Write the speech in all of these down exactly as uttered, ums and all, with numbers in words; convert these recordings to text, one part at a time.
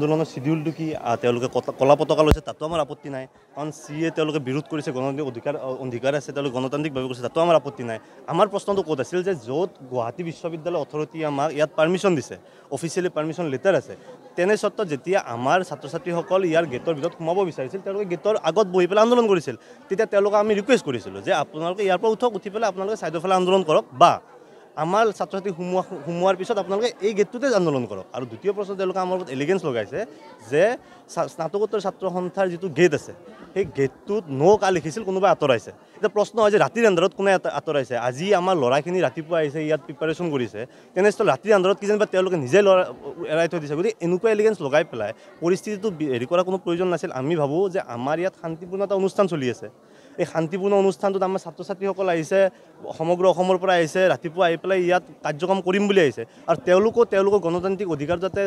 আন্দোলনৰ শিডিউলটো কি, তেওঁলোকে কলা পতাকা লৈছে তাতো আমাৰ আপত্তি নাই, কাৰণ চি এ তেওঁলোকে বিৰোধ কৰিছে, গণতান্ত্ৰিক অধিকাৰ অধিকাৰ আছে, তেওঁলোকে গণতান্ত্ৰিকভাৱে কৰিছে, তাতো আমাৰ আপত্তি নাই। আমাৰ প্ৰশ্নটো ক'ত আছিল যে য'ত গুৱাহাটী বিশ্ববিদ্যালয় অথৰিটি আমাক ইয়াত পাৰ্মিশ্যন দিছে, অফিচিয়েলি পাৰ্মিশ্যন লেটাৰ আছে, তেনে সত্ত্বত যেতিয়া আমাৰ ছাত্ৰ ছাত্ৰীসকল ইয়াৰ গেটৰ ভিতৰত সোমাব বিচাৰিছিল, তেওঁলোকে গেটৰ আগত বহি পেলাই আন্দোলন কৰিছিল। তেতিয়া তেওঁলোকক আমি ৰিকুৱেষ্ট কৰিছিলোঁ যে আপোনালোকে ইয়াৰ পৰা উঠক, উঠি পেলাই আপোনালোকে ছাইডৰ ফালে আন্দোলন কৰক, বা আমাৰ ছাত্ৰ ছাত্ৰী সোমোৱা সোমোৱাৰ পিছত আপোনালোকে এই গেটটোতে আন্দোলন কৰক। আৰু দ্বিতীয় প্ৰশ্ন, তেওঁলোকে আমাৰ ওপৰত এলিগেঞ্চ লগাইছে যে স্নাতকোত্তৰ ছাত্ৰ সন্থাৰ যিটো গেট আছে সেই গেটটোত ন' কা লিখিছিল, কোনোবাই আঁতৰাইছে। এতিয়া প্ৰশ্ন হয় যে ৰাতিৰ আন্ধাৰত কোনে আঁতৰাইছে? আজি আমাৰ ল'ৰাখিনি ৰাতিপুৱা আহিছে, ইয়াত প্ৰিপাৰেশ্যন কৰিছে, তেনেস্থলত ৰাতিৰ আন্ধাৰত কিজানিবা তেওঁলোকে নিজে ল'ৰা এৰাই থৈ দিছে। গতিকে এনেকুৱা এলিগেঞ্চ লগাই পেলাই পৰিস্থিতিটো হেৰি কৰাৰ কোনো প্ৰয়োজন নাছিল। আমি ভাবোঁ যে আমাৰ ইয়াত শান্তিপূৰ্ণ এটা অনুষ্ঠান চলি আছে, এই শান্তিপূৰ্ণ অনুষ্ঠানটোত আমাৰ ছাত্ৰ ছাত্ৰীসকল আহিছে, সমগ্ৰ অসমৰ পৰা আহিছে, ৰাতিপুৱা আহি পেলাই ইয়াত কাৰ্যক্ৰম কৰিম বুলি আহিছে, আৰু তেওঁলোকো তেওঁলোকৰ গণতান্ত্ৰিক অধিকাৰ যাতে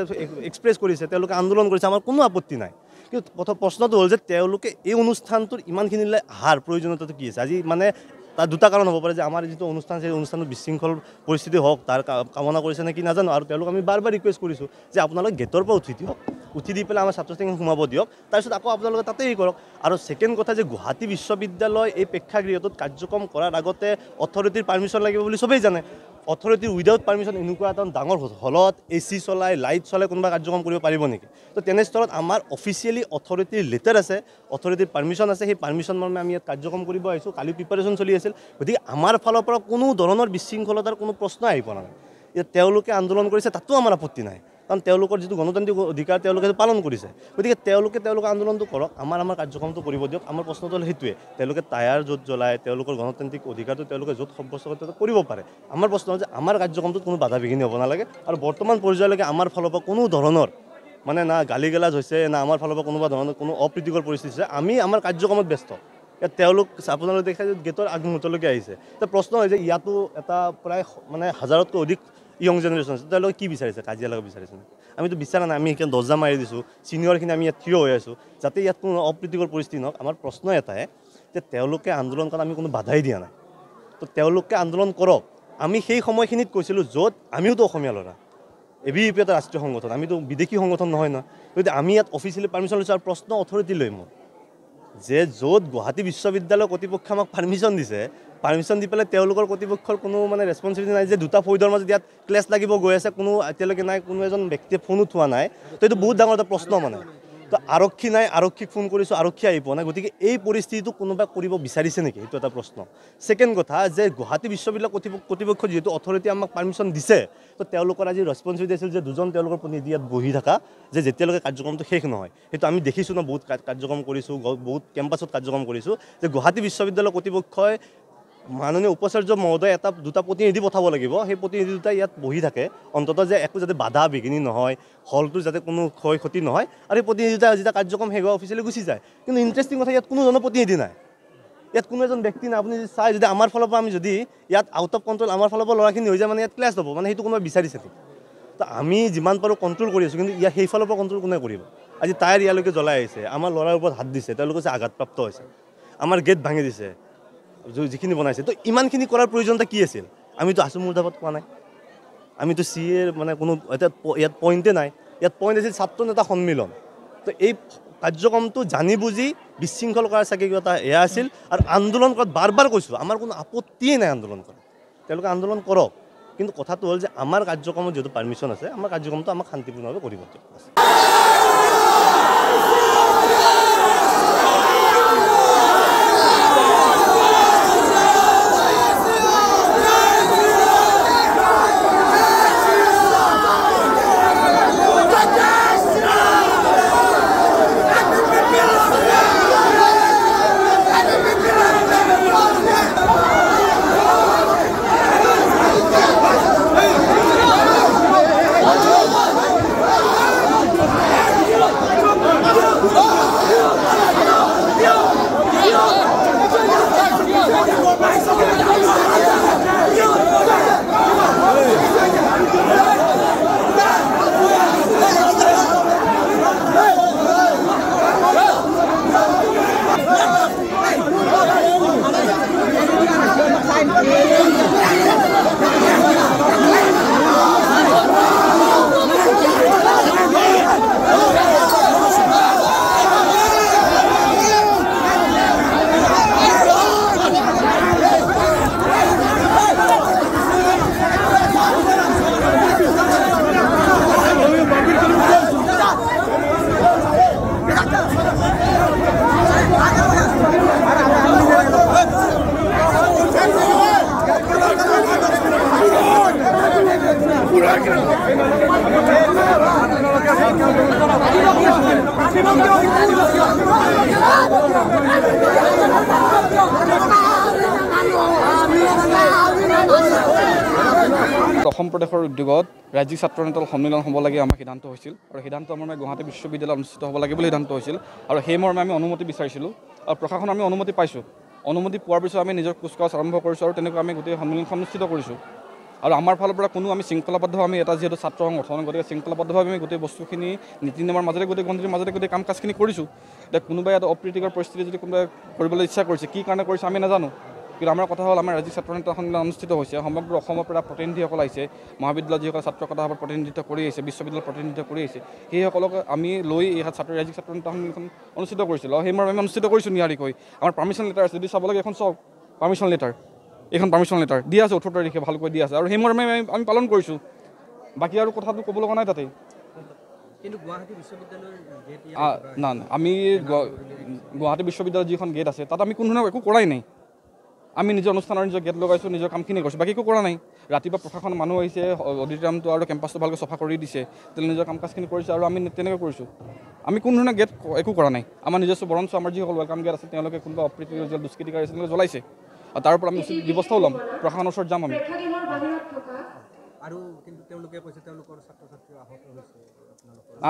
এক্সপ্ৰেছ কৰিছে, তেওঁলোকে আন্দোলন কৰিছে, আমাৰ কোনো আপত্তি নাই। কিন্তু প্ৰথম প্ৰশ্নটো হ'ল যে তেওঁলোকে এই অনুষ্ঠানটোৰ ইমানখিনিলৈ অহাৰ প্ৰয়োজনীয়তাটো কি আছে? আজি মানে তাৰ দুটা কাৰণ হ'ব পাৰে যে আমাৰ যিটো অনুষ্ঠান আছে সেই অনুষ্ঠানটো বিশৃংখল পৰিস্থিতি হওক তাৰ কামনা কৰিছে নে কি নাজানো। আৰু তেওঁলোক আমি বাৰ বাৰ ৰিকুৱেষ্ট কৰিছোঁ যে আপোনালোকে গেটৰ পৰা উঠি দিয়ক, উঠি দি পেলাই আমাৰ ছাত্ৰ ছাত্ৰীখিনি সোমাব দিয়ক, তাৰপিছত আকৌ আপোনালোকে তাতেই হেৰি কৰক। আৰু ছেকেণ্ড কথা যে গুৱাহাটী বিশ্ববিদ্যালয় এই প্ৰেক্ষাগৃহটোত কাৰ্যক্ৰম কৰাৰ আগতে অথৰিটিৰ পাৰ্মিশ্যন লাগিব বুলি চবেই জানে। অথৰিটিৰ উইদাউট পাৰ্মিশ্যন এনেকুৱা এটা ডাঙৰ হলত এ চি চলাই লাইট চলাই কোনোবা কাৰ্যক্ৰম কৰিব পাৰিব নেকি? তো তেনেস্থলত আমাৰ অফিচিয়েলি অথৰিটিৰ লেটাৰ আছে, অথৰিটিৰ পাৰ্মিশ্যন আছে, সেই পাৰ্মিশ্যন মৰ্মে আমি ইয়াত কাৰ্যক্ৰম কৰিব আহিছোঁ। কালি প্ৰিপাৰেশ্যন চলি আছিল, গতিকে আমাৰ ফালৰ পৰা কোনো ধৰণৰ বিশৃংখলতাৰ কোনো প্ৰশ্ন আহি পৰা নাই। এতিয়া তেওঁলোকে আন্দোলন কৰিছে তাতো আমাৰ আপত্তি নাই, কাৰণ তেওঁলোকৰ যিটো গণতান্ত্ৰিক অধিকাৰ তেওঁলোকে পালন কৰিছে। গতিকে তেওঁলোকে তেওঁলোকৰ আন্দোলনটো কৰক, আমাৰ আমাৰ কাৰ্যক্ৰমটো কৰিব দিয়ক। আমাৰ প্ৰশ্নটো হ'ল সেইটোৱে, তেওঁলোকে টায়াৰ য'ত জ্বলায়, তেওঁলোকৰ গণতান্ত্ৰিক অধিকাৰটো তেওঁলোকে য'ত সাব্যস্ত কৰে তেওঁলোকে কৰিব পাৰে। আমাৰ প্ৰশ্ন হ'ল যে আমাৰ কাৰ্যক্ৰমটোত কোনো বাধা বিঘিনি হ'ব নালাগে। আৰু বৰ্তমান পৰ্যায়লৈকে আমাৰ ফালৰ পৰা কোনো ধৰণৰ মানে না গালি গালাজ হৈছে, না আমাৰ ফালৰ পৰা কোনোবা ধৰণৰ কোনো অপ্ৰীতিকৰ পৰিস্থিতি হৈছে। আমি আমাৰ কাৰ্যক্ৰমত ব্যস্ত। ইয়াত তেওঁলোক আপোনালোকে দেখাই যে গেটৰ আগমুহূৰ্তলৈকে আহিছে। এতিয়া প্ৰশ্ন হয় যে ইয়াতো এটা প্ৰায় মানে হাজাৰতকৈ অধিক য়ং জেনেৰেশ্যন আছে, তেওঁলোকে কি বিচাৰিছে? কাজিয়া লগাব বিচাৰিছে নেকি? আমিতো বিচৰা নাই। আমি সেইকাৰণে দৰ্জা মাৰি দিছোঁ, ছিনিয়ৰখিনি আমি ইয়াত থিয় হৈ আছোঁ যাতে ইয়াত কোনো অপ্ৰীতিকৰ পৰিস্থিতি নহওক। আমাৰ প্ৰশ্ন এটাই যে তেওঁলোকে আন্দোলন কৰাত আমি কোনো বাধাই দিয়া নাই, তো তেওঁলোকে আন্দোলন কৰক। আমি সেই সময়খিনিত কৈছিলোঁ য'ত আমিওতো অসমীয়া ল'ৰা, এ বি পি এটা ৰাষ্ট্ৰীয় সংগঠন, আমিতো বিদেশী সংগঠন নহয় নহয়। গতিকে আমি ইয়াত অফিচিয়েলি পাৰ্মিশ্যন লৈছোঁ। আৰু প্ৰশ্ন অথৰিটি লৈ মোৰ যে য'ত গুৱাহাটী বিশ্ববিদ্যালয়ৰ কৰ্তৃপক্ষই আমাক পাৰ্মিশ্যন দিছে, পাৰ্মিশ্যন দি পেলাই তেওঁলোকৰ কৰ্তৃপক্ষৰ কোনো মানে ৰেচপনচিবিলিটি নাই যে দুটা ফৈদৰ মাজত ইয়াত ক্লেছ লাগিব গৈ আছে, কোনো এতিয়ালৈকে নাই, কোনো এজন ব্যক্তিয়ে ফোনো উঠোৱা নাই। তো এইটো বহুত ডাঙৰ এটা প্ৰশ্ন মানে। তো আৰক্ষী নাই, আৰক্ষীক ফোন কৰিছোঁ, আৰক্ষী আহি পোৱা নাই। গতিকে এই পৰিস্থিতিটো কোনোবাই কৰিব বিচাৰিছে নেকি, সেইটো এটা প্ৰশ্ন। ছেকেণ্ড কথা যে গুৱাহাটী বিশ্ববিদ্যালয় কৰ্তৃপক্ষ যিহেতু অথৰিটি আমাক পাৰ্মিশ্যন দিছে, তো তেওঁলোকৰ আজি ৰেচপনচিবিলিটি আছিল যে দুজন তেওঁলোকৰ প্ৰতিনিধি ইয়াত বহি থকা, যে যেতিয়ালৈকে কাৰ্যক্ৰমটো শেষ নহয়। সেইটো আমি দেখিছোঁ ন, বহুত কাৰ্যক্ৰম কৰিছোঁ, বহুত কেম্পাছত কাৰ্যক্ৰম কৰিছোঁ যে গুৱাহাটী বিশ্ববিদ্যালয় কৰ্তৃপক্ষই মাননীয় উপাচাৰ্য মহোদয় এটা দুটা প্ৰতিনিধি পঠাব লাগিব, সেই প্ৰতিনিধি দুটা ইয়াত বহি থাকে অন্ততঃ যে একো যাতে বাধা বিঘিনি নহয়, হলটো যাতে কোনো ক্ষয় ক্ষতি নহয়, আৰু সেই প্ৰতিনিধি দুটা যেতিয়া কাৰ্যক্ৰম শেষ হয় অফিচিয়েলি গুচি যায়। কিন্তু ইণ্টাৰেষ্টিং কথা, ইয়াত কোনো ধৰণৰ প্ৰতিনিধি নাই, ইয়াত কোনো এজন ব্যক্তি নাই। আপুনি যদি চাই, যদি আমাৰ ফালৰ পৰা আমি যদি ইয়াত আউট অফ কণ্ট্ৰল আমাৰ ফালৰ পৰা ল'ৰাখিনি হৈ যায়, মানে ইয়াত ক্লেছ হ'ব, মানে সেইটো কোনোবাই বিচাৰিছে নেকি? তো আমি যিমান পাৰোঁ কণ্ট্ৰল কৰি আছোঁ, কিন্তু ইয়াত সেইফালৰ পৰা কণ্ট্ৰল কোনে কৰিব? আজি টায়াৰ ইয়ালৈকে জ্বলাই আহিছে, আমাৰ ল'ৰাৰ ওপৰত হাত দিছে, তেওঁলোকে আঘাতপ্ৰাপ্ত হৈছে, আমাৰ গেট ভাঙি দিছে, যিখিনি বনাইছে। তো ইমানখিনি কৰাৰ প্ৰয়োজনটা কি আছিল? আমিতো আছু মুৰ্দাবাদ কোৱা নাই, আমিতো চি এৰ মানে কোনো এতিয়া ইয়াত পইণ্টে নাই। ইয়াত পইণ্ট আছিল ছাত্ৰ নেতা সন্মিলন। তো এই কাৰ্যক্ৰমটো জানি বুজি বিশৃংখল কৰাৰ চাগে কিবা এটা এয়া আছিল। আৰু আন্দোলন কৰাত বাৰ বাৰ কৈছোঁ, আমাৰ কোনো আপত্তিয়ে নাই আন্দোলন কৰাত, তেওঁলোকে আন্দোলন কৰক। কিন্তু কথাটো হ'ল যে আমাৰ কাৰ্যক্ৰমত যিহেতু পাৰ্মিশ্যন আছে, আমাৰ কাৰ্যক্ৰমটো আমাক শান্তিপূৰ্ণভাৱে কৰিব দিয়ক। Hey! অসম প্ৰদেশৰ উদ্যোগত ৰাজ্যিক ছাত্ৰ নেতাৰ সন্মিলন হ'ব লাগে আমাৰ সিদ্ধান্ত হৈছিল আৰু সিদ্ধান্ত মৰ্মে গুৱাহাটী বিশ্ববিদ্যালয়ত অনুষ্ঠিত হ'ব লাগে বুলি সিদ্ধান্ত হৈছিল আৰু সেই মৰ্মে আমি অনুমতি বিচাৰিছিলোঁ আৰু প্ৰশাসনৰ আমি অনুমতি পাইছোঁ। অনুমতি পোৱাৰ পিছত আমি নিজৰ কুচকাৱাজ আৰম্ভ কৰিছোঁ আৰু তেনেকৈ আমি গোটেই সন্মিলনখন অনুষ্ঠিত কৰিছোঁ। আৰু আমাৰ ফালৰ পৰা কোনো আমি শৃংখলাবদ্ধ আমি এটা যিহেতু ছাত্ৰ সংগঠন, গতিকে শৃংখলাবদ্ধভাৱে আমি গোটেই বস্তুখিনি নীতি নিয়মৰ মাজেৰে গোটেই গণ্ডিৰ মাজেৰে গোটেই কাম কাজখিনি কৰিছোঁ। এতিয়া কোনোবাই এটা অপ্ৰীতিকৰ পৰিস্থিতি যদি কোনোবাই কৰিবলৈ ইচ্ছা কৰিছে, কি কাৰণে কৰিছে আমি নাজানো, কিন্তু আমাৰ কথা হ'ল আমাৰ ৰাজ্যিক ছাত্ৰ নেতা সন্মিলন অনুষ্ঠিত হৈছে, সমগ্ৰ অসমৰ পৰা প্ৰতিনিধিসকল আহিছে, মহাবিদ্যালয়ৰ যিসকল ছাত্ৰ সভাৰ প্ৰতিনিধিত্ব কৰি আহিছে, বিশ্ববিদ্যালয়ৰ প্ৰতিনিধিত্ব কৰি আহিছে, সেইসকলক আমি লৈ এই ছাত্ৰ ৰাজ্যিক ছাত্ৰ নেতা সন্মিলনখন অনুষ্ঠিত কৰিছিলোঁ আৰু সেই মৰ্মে আমি অনুষ্ঠিত কৰিছোঁ নিয়াৰিকৈ। আমাৰ পাৰ্মিশ্যন লেটাৰ আছে, যদি চাব লাগে এখন চাওক, পাৰ্মিশ্যন লেটাৰ, এইখন পাৰ্মিশ্যন লেটাৰ দিয়া আছে, ওঠৰ তাৰিখে ভালকৈ দিয়া আছে আৰু সেই মৰ্মে আমি আমি পালন কৰিছোঁ। বাকী আৰু কথাটো ক'ব লগা নাই তাতে। না না, আমি গুৱাহাটী বিশ্ববিদ্যালয়ৰ যিখন গেট আছে তাত আমি কোনো ধৰণৰ একো কৰাই নাই। আমি নিজৰ অনুষ্ঠানৰ নিজৰ গেট লগাইছোঁ, নিজৰ কামখিনি কৰিছোঁ, বাকী একো কৰা নাই। ৰাতিপুৱা প্ৰশাসনৰ মানুহ আহিছে, অডিটৰিয়ামটো আৰু কেম্পাছটো ভালকৈ চফা কৰি দিছে, তেওঁলোকে নিজৰ কাম কাজখিনি কৰিছে আৰু আমি তেনেকৈ কৰিছোঁ। আমি কোনো ধৰণৰ গেট একো কৰা নাই, আমাৰ নিজস্ব, বৰঞ্চ আমাৰ যিসকল welcome gate আছে তেওঁলোকে কোনোবা অপ্ৰীতি দুষ্কৃতিকাৰী আছে তেওঁলোকে জ্বলাইছে আৰু তাৰ ওপৰত আমি উচিত ব্যৱস্থাও ল'ম, প্ৰশাসনৰ ওচৰত যাম আমি।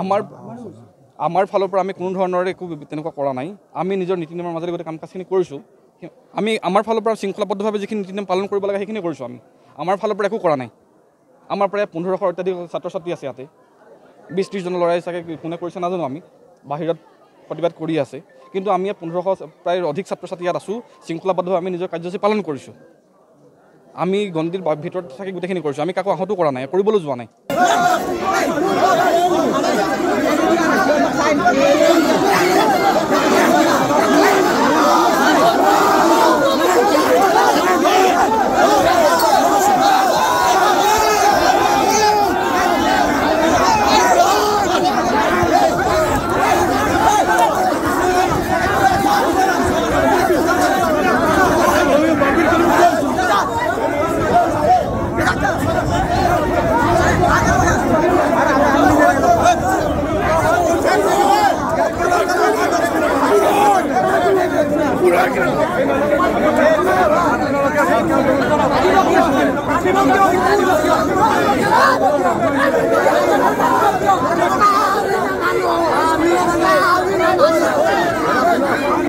আমাৰ আমাৰ ফালৰ পৰা আমি কোনো ধৰণৰ একো তেনেকুৱা কৰা নাই, আমি নিজৰ নীতি নিয়মৰ মাজেৰে গোটেই কাম কাজখিনি কৰিছোঁ। আমি আমাৰ ফালৰ পৰা শৃংখলাবদ্ধভাৱে যিখিনি নীতি নিয়ম পালন কৰিব লাগে সেইখিনি কৰিছোঁ। আমি আমাৰ ফালৰ পৰা একো কৰা নাই। আমাৰ প্ৰায় পোন্ধৰশ অত্যাধিক ছাত্ৰ ছাত্ৰী আছে ইয়াতে, বিছ ত্ৰিছজন ল'ৰাই চাগে কোনে কৰিছে নাজানো, আমি বাহিৰত প্ৰতিবাদ কৰি আছে, কিন্তু আমি ইয়াত পোন্ধৰশ প্ৰায় অধিক ছাত্ৰ ছাত্ৰী ইয়াত আছোঁ। শৃংখলাবদ্ধভাৱে আমি নিজৰ কাৰ্যসূচী পালন কৰিছোঁ, আমি গণ্ডিৰ ভিতৰত থাকি গোটেইখিনি কৰিছোঁ, আমি কাকো আহতো কৰা নাই, কৰিবলৈ যোৱা নাই।